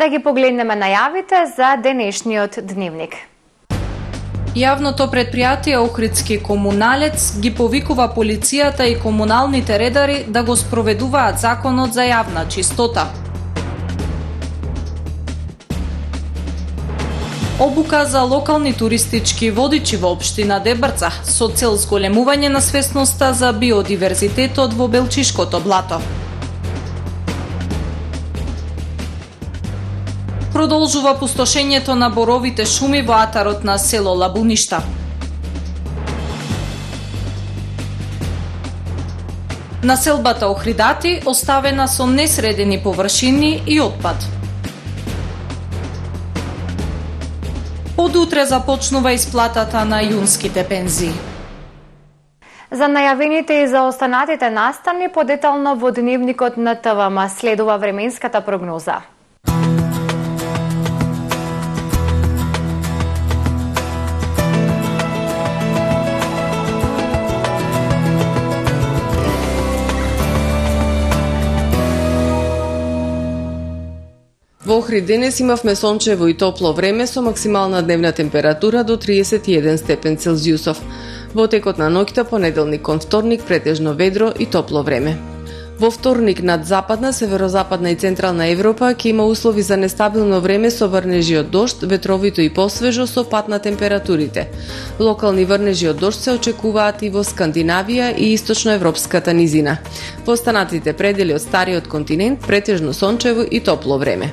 Да ги погледнеме најавите за денешниот дневник. Јавното предпријатие Охридски комуналец ги повикува полицијата и комуналните редари да го спроведуваат законот за јавна чистота. Обука за локални туристички водичи во општина Дебрца со цел зголемување на свесноста за биодиверзитетот во Белчишкото блато. Продолжува пустошењето на боровите шуми во атарот на село Лабуништа. Населбата Охридати оставена со несредени површини и отпад. Од утре започнува исплатата на јунските пензии. За најавените и за останатите настани подетално во дневникот на ТВМ следува временската прогноза. Во Охрид денес имавме сончево и топло време со максимална дневна температура до 31 степен Целзиусов. Во текот на ноќта понеделник кон вторник претежно ведро и топло време. Во вторник над западна, северозападна и централна Европа ќе има услови за нестабилно време со врнежи од дожд, ветровито и посвежо со пад на температурите. Локални врнежи од дожд се очекуваат и во Скандинавија и источноевропската низина. Во останатите предели од стариот континент претежно сончево и топло време.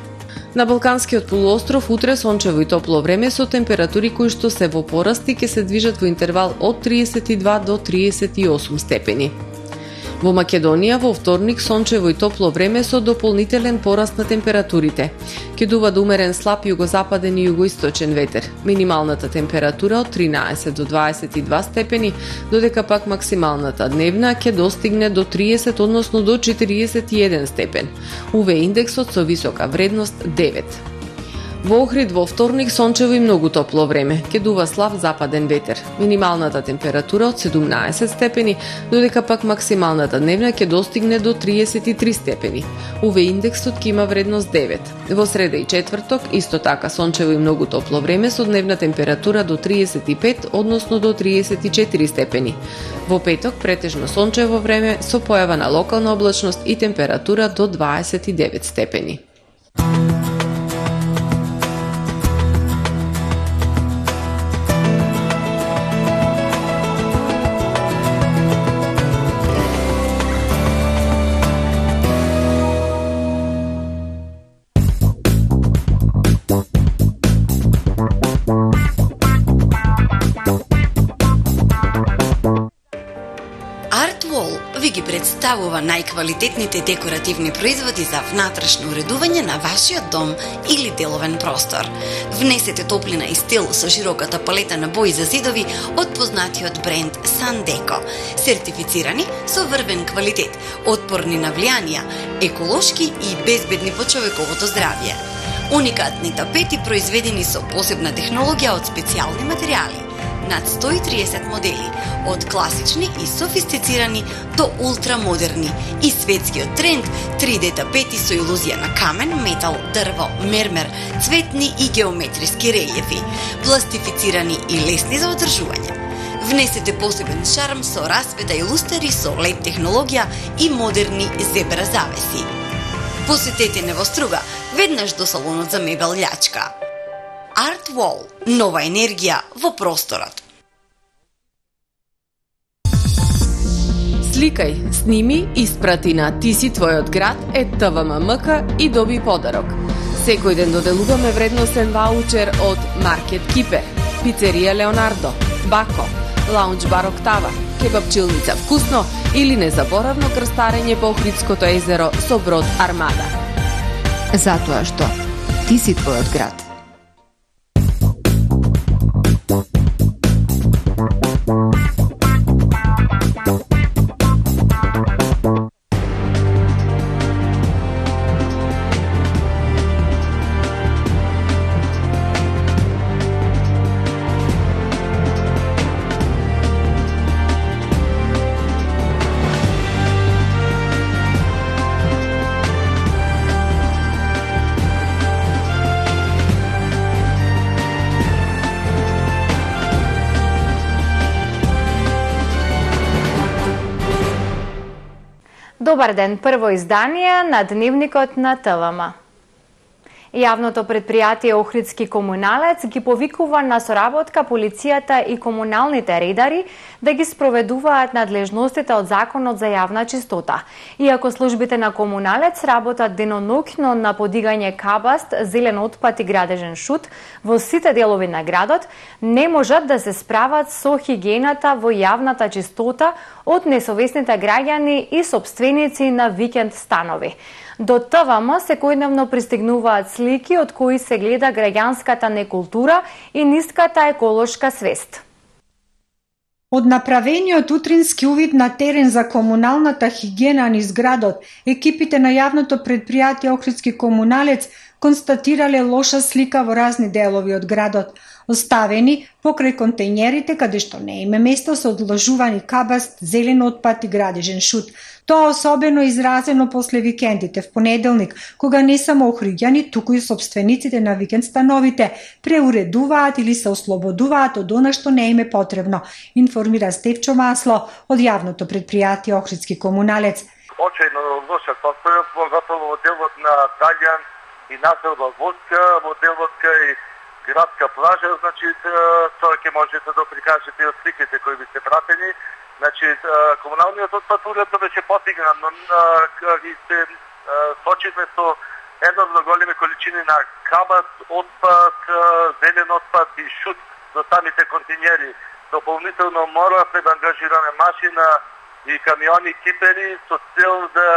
На Балканскиот полуостров утре сончево и топло време со температури кои што се во порасти ќе се движат во интервал од 32 до 38 степени. Во Македонија во вторник сончево и топло време со дополнителен пораст на температурите. Ќе дува до умерен слаб југозападен и југоисточен ветер. Минималната температура од 13 до 22 степени, додека пак максималната дневна ќе достигне до 30, односно до 41 степен. УВ индексот со висока вредност 9. Во Охрид во вторник сончево и многу топло време, ќе дува слаб западен ветер. Минималната температура од 17 степени, додека пак максималната дневна ќе достигне до 33 степени. УВ индексот ќе има вредност 9. Во среда и четврток исто така сончево и многу топло време со дневна температура до 35, односно до 34 степени. Во петок претежно сончево време со појава на локална облачност и температура до 29 степени. ги представува најквалитетните декоративни производи за внатрешно уредување на вашиот дом или деловен простор. Внесете топлина и стил со широката палета на бои за зидови од познатиот бренд Sandeco, сертифицирани со врвен квалитет, отпорни на влијанија, еколошки и безбедни по човековото здравје. Уникатни тапети произведени со посебна технологија од специјални материјали. Над 130 модели, од класични и софистицирани до ултрамодерни и светскиот тренд 3D тапети со илузија на камен, метал, дрво, мермер, цветни и геометриски релјефи, пластифицирани и лесни за одржување. Внесете посебен шарм со расвета и лустери со LED технологија и модерни зебра завеси. Посетете Невоструга, веднаш до салонот за мебел Љачка. Art Wall. Нова енергија во просторот. Сликај, сними, испрати на Ти си твојот град @tvmm.mk и доби подарок. Секој ден доделуваме вредносен ваучер од Маркет Кипер, Пицерија Леонардо, Бако, Лаунџ бар Октава, кебапчилница Вкусно или незаборавно крстарење по Охридското езеро со брод Армада. Затоа што ти си твојот град. Добар ден, прво издание на Дневникот на ТВМ. Јавното предпријатие Охридски комуналец ги повикува на соработка полицијата и комуналните редари да ги спроведуваат надлежностите од Законот за јавна чистота. Иако службите на комуналец работат деноноќно на подигање кабаст, зелен отпад и градежен шут во сите делови на градот, не можат да се справат со хигиената во јавната чистота од несовесните граѓани и сопственици на викенд станови. До ТВМ секојдневно пристигнуваат слики од кои се гледа граѓанската некултура и ниската еколошка свест. Од направениот утрински увид на терен за комуналната хигиена низ градот, екипите на јавното предпријатие Охридски комуналец констатирале лоша слика во разни делови од градот. Оставени покрај контејнерите каде што не има место се одложувани кабаст, зелен отпад и градежен шут. Тоа особено изразено после викендите в понеделник, кога не само охриѓани, туку и сопствениците на викенд становите преуредуваат или се ослободуваат од она што не им е потребно, информира Стефчо Масло од јавното предпријатие Охридски комуналец. Очајно лоша состојба, поготово во делот на Даљан и населба Воска, во делот кај градска плажа, значи тоа ќе можете да прикажете од сликите кои би се пратени. Значи комуналниот отпад уредно беше потигнат, но и се сочиме со еднорно големи количини на кабаст, отпад, зелен отпад и шут до самите континери. Дополнително моравме да ангажираме машина и камиони кипери со цел да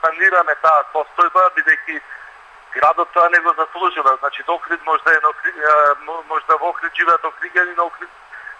санираме таа состојба, бидејќи градот тоа не го заслужува. Значи, Охрид може да во Охрид живеат охриѓани, но Охрид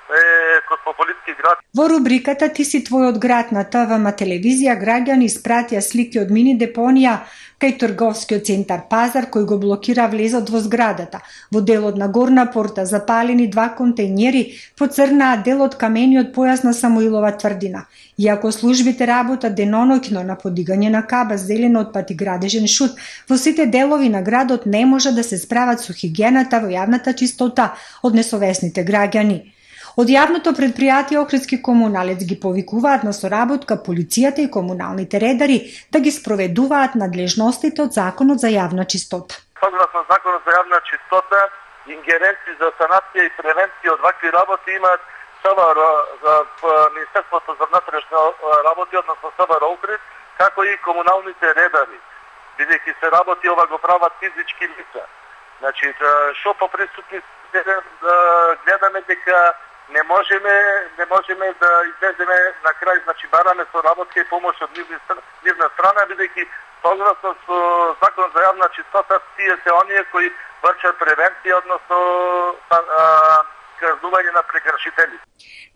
е космополитски град. Во рубриката Ти си твојот град на ТВМ телевизија граѓани испратија слики од мини депонија кај трговскиот центар Пазар кој го блокира влезот во зградата. Во делот на горна порта запалени 2 контејнери поцрнаа дел од камениот појас на Самуилова тврдина. Иако службите работат деноноќно на подигање на кабаст, зелен отпад и градежен шут, во сите делови на градот не може да се справат со хигиената во јавната чистота од несовесните граѓани. Од јавното предпријатие Охридски комуналец ги повикуваат на соработка полицијата и комуналните редари да ги спроведуваат надлежностите од Законот за јавна чистота. Согласно Законот за јавна чистота, ингеренции за санација и превенција од вакви работи имаат СВР, Министерството за внатрешни работи, односно СВР Охрид, како и комуналните редари, бидејќи се работи ова го прават физички лица. Значи, шо по присутни гледаме дека не можеме да излеземе на крај, значи бараме соработка и помош од нивна страна, бидејќи согласно со Закон за јавна чистота, тие се оние кои вршат превенција, односно казнување на прекршители.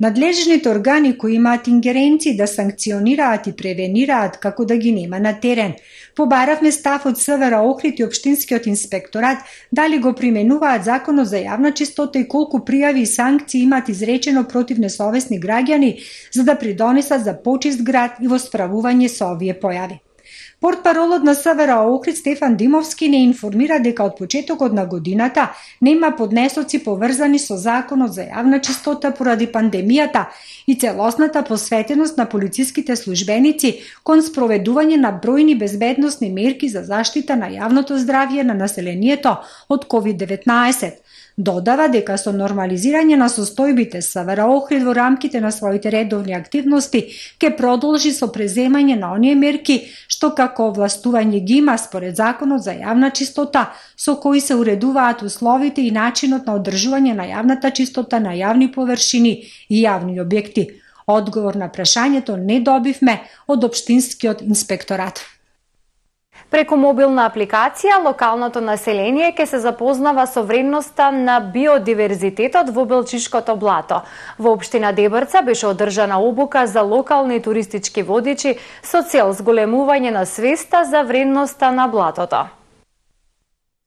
Надлежните органи кои имаат ингеренции да санкционираат и превенираат како да ги нема на терен. Побаравме став од СВР Охрид и Општинскиот инспекторат дали го применуваат Законот за јавна чистота и колку пријави и санкции имаат изречено против несовесни граѓани за да придонесат за почист град и во справување со овие појави. Портпаролот на СВР Охрид Стефан Димовски не информира дека од почетокот на годината нема поднесоци поврзани со Законот за јавна чистота поради пандемијата и целосната посветеност на полициските службеници кон спроведување на бројни безбедносни мерки за заштита на јавното здравје на населението од COVID-19. Додава дека со нормализирање на состојбите СВР Охрид во рамките на своите редовни активности ќе продолжи со преземање на оние мерки што како овластување ги има според Законот за јавна чистота, со кои се уредуваат условите и начинот на одржување на јавната чистота на јавни површини и јавни објекти. Одговор на прашањето не добивме од Општинскиот инспекторат. Преку мобилна апликација, локалното население ќе се запознава со вредноста на биодиверзитетот во Белчишкото блато. Во општина Дебрца беше одржана обука за локални туристички водичи со цел зголемување на свеста за вредноста на блатото.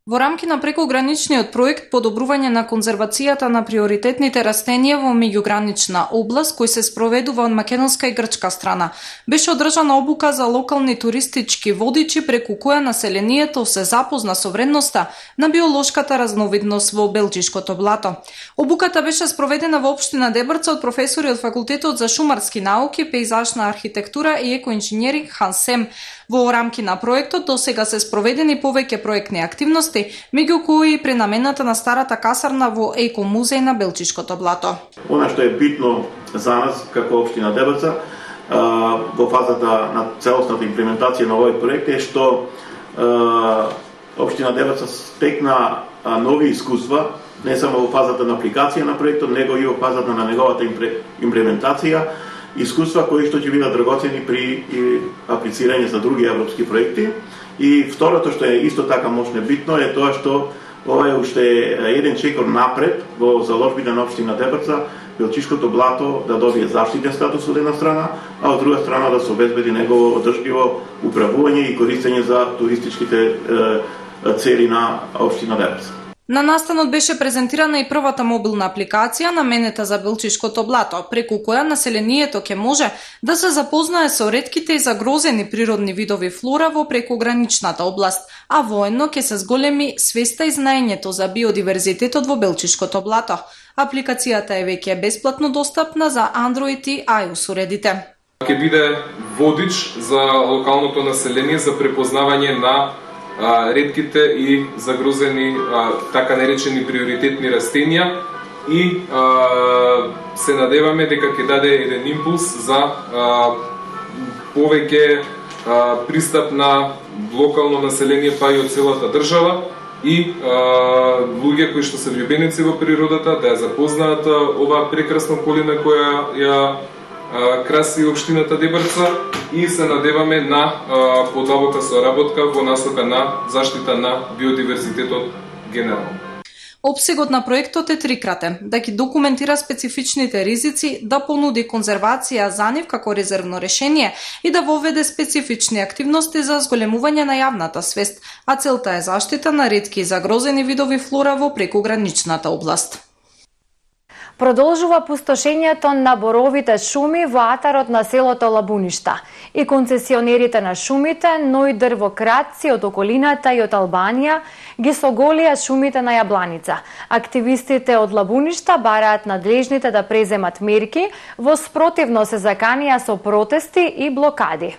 Во рамки на прекограничниот проект подобрување на конзервацијата на приоритетните растенија во меѓугранична област, кој се спроведува од македонска и грчка страна, беше одржана обука за локални туристички водичи преку која населението се запозна со вредноста на биолошката разновидност во Белчишкото блато. Обуката беше спроведена во општина Дебрца од професори од Факултетот за шумарски науки, пејзажна архитектура и екоинженеринг Хансем. Во рамки на проектот досега се спроведени повеќе проектни активности, меѓу кои и пренамената на старата касарна во Еко-музеј на Белчишкото блато. Она што е битно за нас како општина Дебрца во фазата на целосната имплементација на овој проект е што општина Дебрца стекна нови искуства, не само во фазата на апликација на проектот, него и во фазата на неговата имплементација, искуства кои што ќе бидат драгоцени при аплицирање за други европски проекти. И второто што е исто така можно битно е тоа што ова е уште еден чекор напред во заложбите на општина Дебрца, Белчишкото блато да добие заштитен статус од една страна, а од друга страна да се обезбеди негово одржливо управување и користење за туристичките цели на општина Дебрца. На настанот беше презентирана и првата мобилна апликација наменета за Белчишкото блато, преку која населението ќе може да се запознае со ретките и загрозени природни видови флора во прекограничната област, а воедно ќе се зголеми свеста и знаењето за биодиверзитетот во Белчишкото блато. Апликацијата е веќе бесплатно достапна за Android и iOS уредите. Ќе биде водич за локалното население за препознавање на ретките и загрозени така наречени приоритетни растенија и се надеваме дека ќе даде еден импулс за повеќе пристап на локално население па и од целата држава и луѓе кои што се влюбеници во природата да ја запознаат оваа прекрасна околина која ја краси општината Дебрца и се надеваме на подобока соработка во насока на заштита на биодиверзитетот генерално. Обсегот на проектот е трикратен, да ги документира специфичните ризици, да понуди конзервација за нив како резервно решение и да воведе специфични активности за зголемување на јавната свест, а целта е заштита на ретки и загрозени видови флора во прекограничната област. Продолжува пустошењето на боровите шуми во атарот на селото Лабуништа. И концесионерите на шумите, но и дрвократци од околината и од Албанија ги соголија шумите на Јабланица. Активистите од Лабуништа бараат надлежните да преземат мерки, во спротивно се заканија со протести и блокади.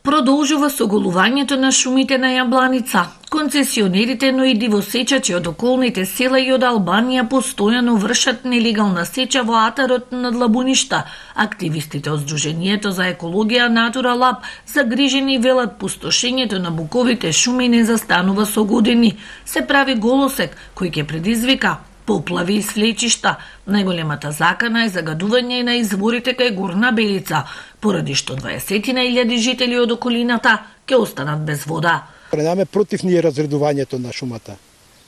Продолжува соголувањето на шумите на Јабланица. Концесионерите, но и дивосечачи од околните села и од Албанија постојано вршат нелегална сеча во атарот над Лабуништа. Активистите од Сдруженијето за екологија Натура Лаб загрижени велат пустошењето на буковите шуми не застанува со години. Се прави голосек кој ќе предизвика поплави и свлечишта. Најголемата закана е загадување на изворите кај Горна Белица, поради што 20.000 жители од околината ќе останат без вода. Предаме против ние разредувањето на шумата.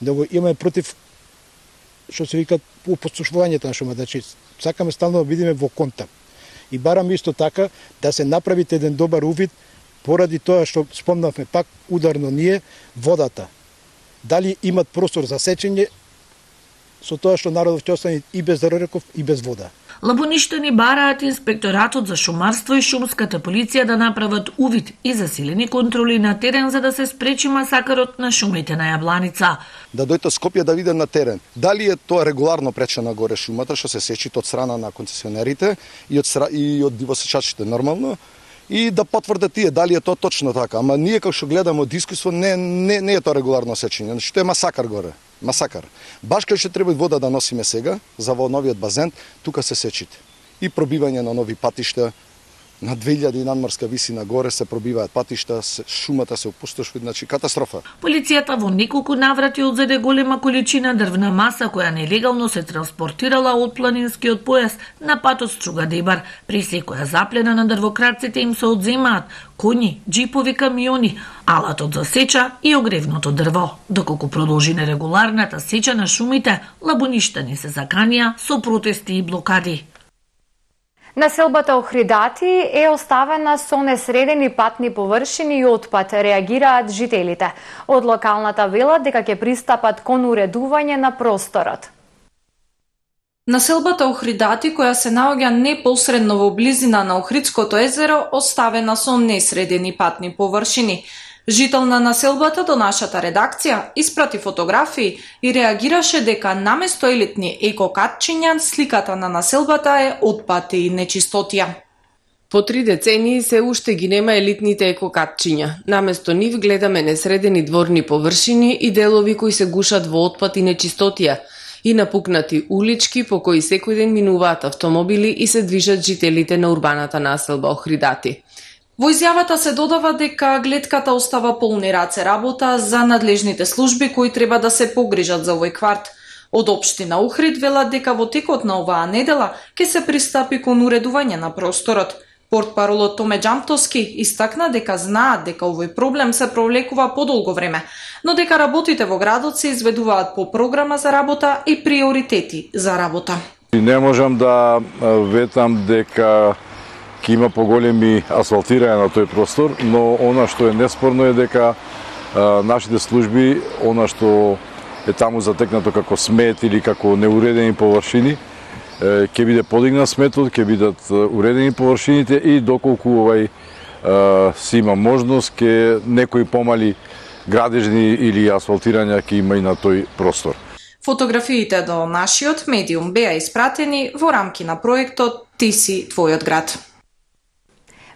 Него имаме против што се вика опустошувањето на шумата. Значи сакаме стално да бидеме во контакт. И бараме исто така да се направи еден добар увид поради тоа што спомнавме пак ударно ние водата. Дали имат простор за сечење со тоа што народот ќе остане и без реков и без вода. Лабуништани бараат инспекторатот за шумарство и шумската полиција да направат увид и засилени контроли на терен за да се спречи масакарот на шумите на Јабланица. Да дојдат Скопје да видат на терен дали е тоа регуларно пречена горе шумата што се сечи од страна на концесионерите и од дивосечачите нормално и да потврдат тие дали е тоа точно така. Ама ние како што гледаме од искуство не е тоа регуларно сечење, значи тоа е масакар горе. Масакар. Баш кај што треба вода да носиме сега за во новиот базен, тука се сечите. И пробивање на нови патишта, на 2000 надморска висина горе се пробиваат патишта, шумата се опустошува, значи катастрофа. Полицијата во неколку наврати одзеде голема количина дрвна маса која нелегално се транспортирала од планинскиот појас на патот Струга-Дебар. При секоја заплена на дрвократците им се одземаат коњи, џипови, камиони, алатот за сеча и огревното дрво. Доколку продолжи нерегуларната сеча на шумите, лабуништани се заканија со протести и блокади. Населбата Охридати е оставена со несредени патни површини и отпад, реагираат жителите. Од локалната велат дека ќе пристапат кон уредување на просторот. Населбата Охридати, која се наоѓа непосредно во близина на Охридското езеро, оставена со несредени патни површини. Жител на населбата до нашата редакција испрати фотографии и реагираше дека наместо елитни екокатчиња, сликата на населбата е отпад и нечистотија. По 3 децении се уште ги нема елитните екокатчиња. Наместо нив гледаме несредени дворни површини и делови кои се гушат во отпад и нечистотија, и напукнати улички по кои секој ден минуваат автомобили и се движат жителите на урбаната населба Охридати. Во изјавата се додава дека глетката остава полни раце работа за надлежните служби кои треба да се погрижат за овој кварт. Од општина Охрид велат дека во текот на оваа недела ќе се пристапи кон уредување на просторот. Портпаролот Томе Џамтовски истакна дека знаат дека овој проблем се провлекува подолго време, но дека работите во градот се изведуваат по програма за работа и приоритети за работа. Не можам да ветам дека ќе има поголеми асфалтирање на тој простор, но она што е неспорно е дека нашите служби, она што е таму затекнато како смет или како неуредени површини, ќе биде подигнат сметот, ќе бидат уредени површините и доколку овај си има можност, ќе некои помали градежни или асфалтирања ќе има и на тој простор. Фотографиите до нашиот медиум беа испратени во рамки на проектот Ти си твојот град.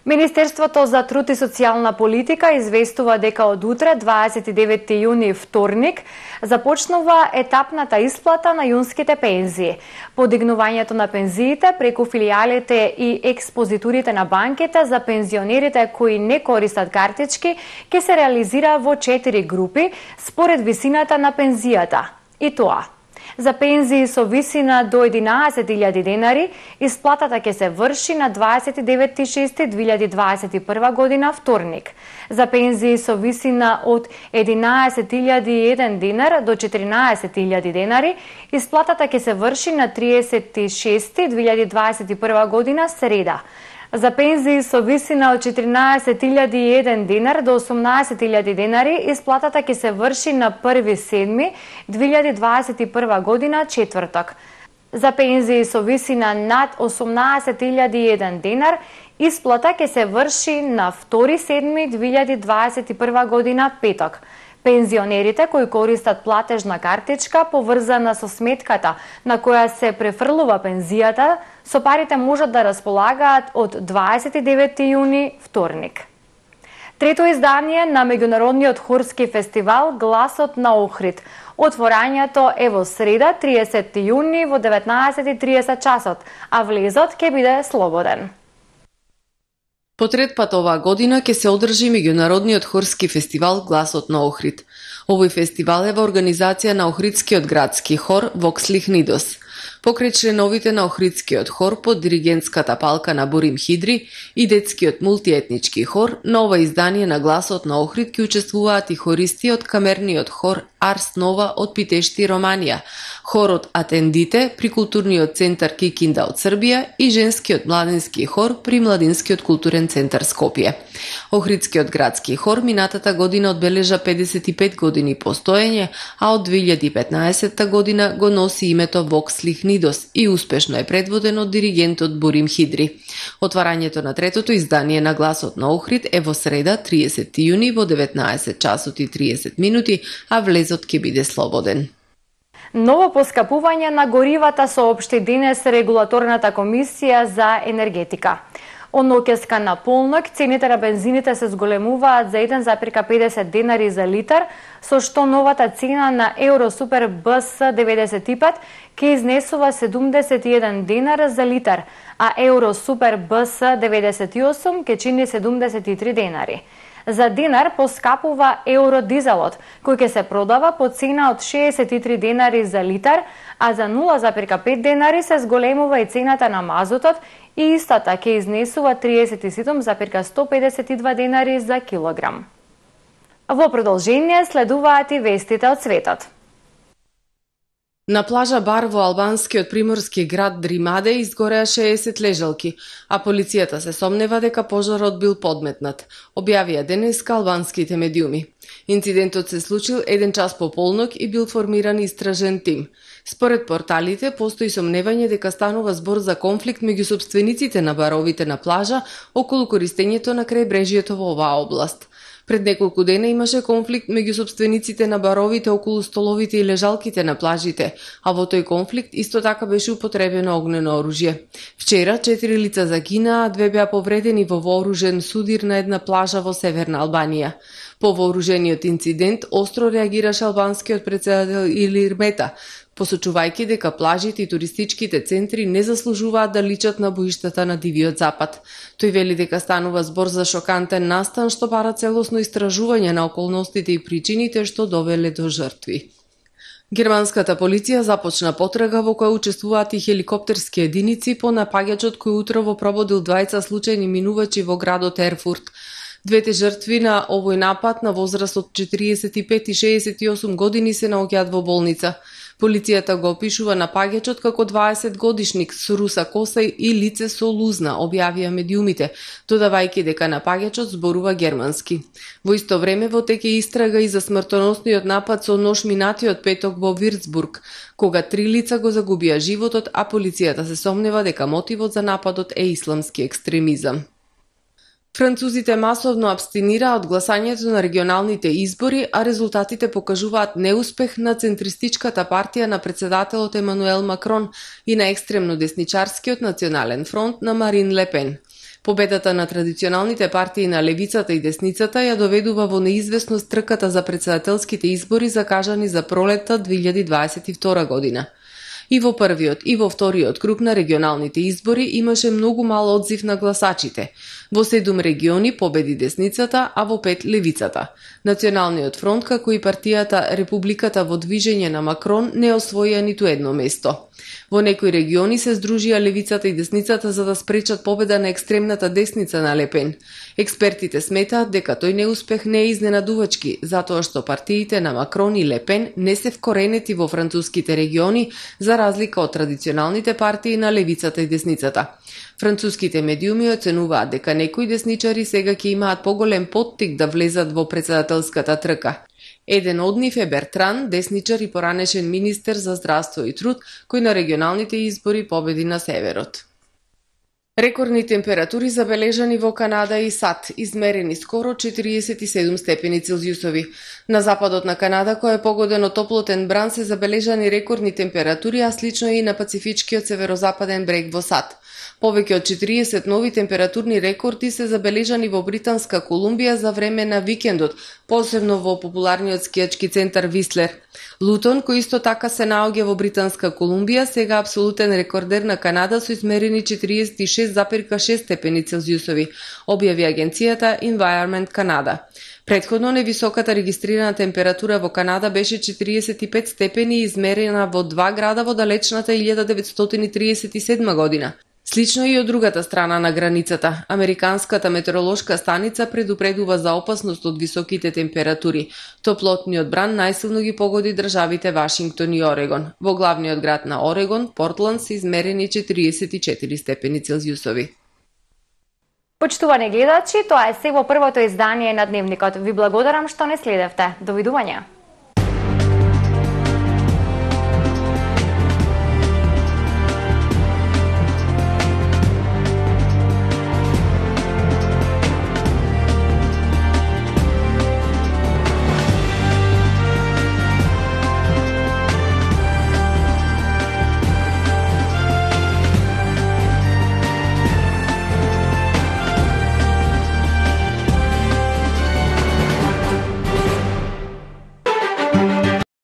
Министерството за труд и социјална политика известува дека од утре, 29 јуни, вторник, започнува етапната исплата на јунските пензии. Подигнувањето на пензиите преку филијалите и експозитурите на банките за пензионерите кои не користат картички ќе се реализира во 4 групи според висината на пензијата. И тоа: за пензии со висина до 11.000 денари, исплатата ќе се врши на 29.6.2021 година, вторник. За пензии со висина од 11.001 динар до 14.000 денари, исплатата ќе се врши на 30.6.2021 година, среда. За пензии со висина од 14.001 динар до 18.000 денари, исплатата ќе се врши на 1.7.2021 година, четврток. За пензии со висина над 18.001 динар, исплата ќе се врши на 2.7.2021 година, петок. Пензионерите кои користат платежна картичка поврзана со сметката на која се префрлува пензијата, со парите можат да располагаат од 29 јуни, вторник. Трето издание на меѓународниот хорски фестивал Гласот на Охрид. Отворањето е во среда, 30 јуни во 19:30 часот, а влезот ќе биде слободен. По трет пат оваа година ќе се одржи меѓународниот хорски фестивал Гласот на Охрид. Овој фестивал е во организација на Охридскиот градски хор Vox Lichnidos. Покрај членовите на Охридскиот хор под диригентската палка на Борим Хидри и детскиот мултиетнички хор, на ова издание на Гласот на Охрид ќе учествуваат и хористи од камерниот хор Арс Нова од Питешти, Романија, хорот Атендите при културниот центар Кикинда од Србија и женскиот младински хор при Младинскиот културен центар Скопје. Охридскиот градски хор минатата година одбележа 55 години постоење, а од 2015 година го носи името Vox Lichnidos и успешно е предводен од диригентот Борим Хидри. Отварањето на третото издание на Гласот на Охрид е во среда, 30 јуни во 19 часот и 30 минути, а влезот ќе биде слободен. Ново поскапување на горивата соопшти денес Регулаторната комисија за енергетика. Од ноќеска на полнок, цените на бензините се зголемуваат за 1,50 денари за литар, со што новата цена на Евро Супер БС 95 ќе изнесува 71 денара за литар, а Евро Супер БС 98 ќе чини 73 денари. За динар поскапува евродизелот, кој ќе се продава по цена од 63 денари за литар, а за 0,5 денари се зголемува и цената на мазутот и истата ќе изнесува 37,152 денари за килограм. Во продолжение следуваат и вестите од светот. На плажа бар во албанскиот приморски град Дримаде изгореа 60 лежалки, а полицијата се сомнева дека пожарот бил подметнат, објавија денеска албанските медиуми. Инцидентот се случил 1 час по полнок и бил формиран истражен тим. Според порталите, постои сомневање дека станува збор за конфликт меѓу сопствениците на баровите на плажа околу користењето на крајбрежјето во оваа област. Пред неколку дена имаше конфликт меѓу сопствениците на баровите околу столовите и лежалките на плажите, а во тој конфликт исто така беше употребено огнено оружје. Вчера 4 лица загинаа, 2 беа повредени во вооружен судир на една плажа во северна Албанија. По вооружениот инцидент остро реагираше албанскиот претседател Илир Мета, посочувајќи дека плажите и туристичките центри не заслужуваат да личат на боиштата на Дивиот Запад. Тој вели дека станува збор за шокантен настан што бара целосно истражување на околностите и причините што довеле до жртви. Германската полиција започна потрага во која учествуваат и хеликоптерски единици по напаѓачот кој утрово прободил 20 случајни минувачи во градот Ерфурт. Двете жртви на овој напад на возраст од 45 и 68 години се наоѓаат во болница. Полицијата го опишува напаѓачот како 20 годишник со руса коса и лице со лузна, објавија медиумите, додавајќи дека напаѓачот зборува германски. Во исто време во тек е истрага и за смртоносниот напад со нож минатиот петок во Вирцбург, кога 3 лица го загубија животот, а полицијата се сомнева дека мотивот за нападот е исламски екстремизам. Французите масовно абстинираа од гласањето на регионалните избори, а резултатите покажуваат неуспех на центристичката партија на председателот Емануел Макрон и на екстремно десничарскиот Национален фронт на Марин Ле Пен. Победата на традиционалните партии на левицата и десницата ја доведува во неизвестност трката за председателските избори закажани за пролетта 2022 година. И во првиот и во вториот круг на регионалните избори имаше многу мал одзив на гласачите. Во 7 региони победи десницата, а во 5 левицата. Националниот фронт, како и партијата Републиката во движење на Макрон, не освоија ниту едно место. Во некои региони се здружија левицата и десницата за да спречат победа на екстремната десница на Ле Пен. Експертите сметаат дека тој неуспех не е изненадувачки, затоа што партиите на Макрон и Ле Пен не се вкоренети во француските региони, за разлика од традиционалните партии на левицата и десницата. Француските медиуми оценуваат дека некои десничари сега ќе имаат поголем поттик да влезат во председателската трка. Еден од нив е Бертран, десничар и поранешен министер за здравство и труд, кој на регионалните избори победи на северот. Рекордни температури забележани во Канада и САД, измерени скоро 47 степени Целзиусови. На западот на Канада, кој е погоден од топлотен бран, се забележани рекордни температури, а слично и на Пацифичкиот северозападен брег во САД. Повеќе од 40 нови температурни рекорди се забележани во Британска Колумбија за време на викендот, посебно во популарниот скијачки центар Вислер. Лутон, кој исто така се наоѓа во Британска Колумбија, сега апсолутен рекордер на Канада со измерени 46,6 степени Целзиусови, објави агенцијата Environment Canada. Претходно невисоката регистрирана температура во Канада беше 45 степени измерена во 2 града во далечната 1937 година. Слично и од другата страна на границата, Американската метеоролошка станица предупредува за опасност од високите температури. Топлотниот бран најсилно ги погоди државите Вашингтон и Орегон. Во главниот град на Орегон, Портланд, се измерени 44 степени Целзиусови. Почитувани гледачи, тоа е се во првото издание на Дневникот. Ви благодарам што не следевте. Довидување.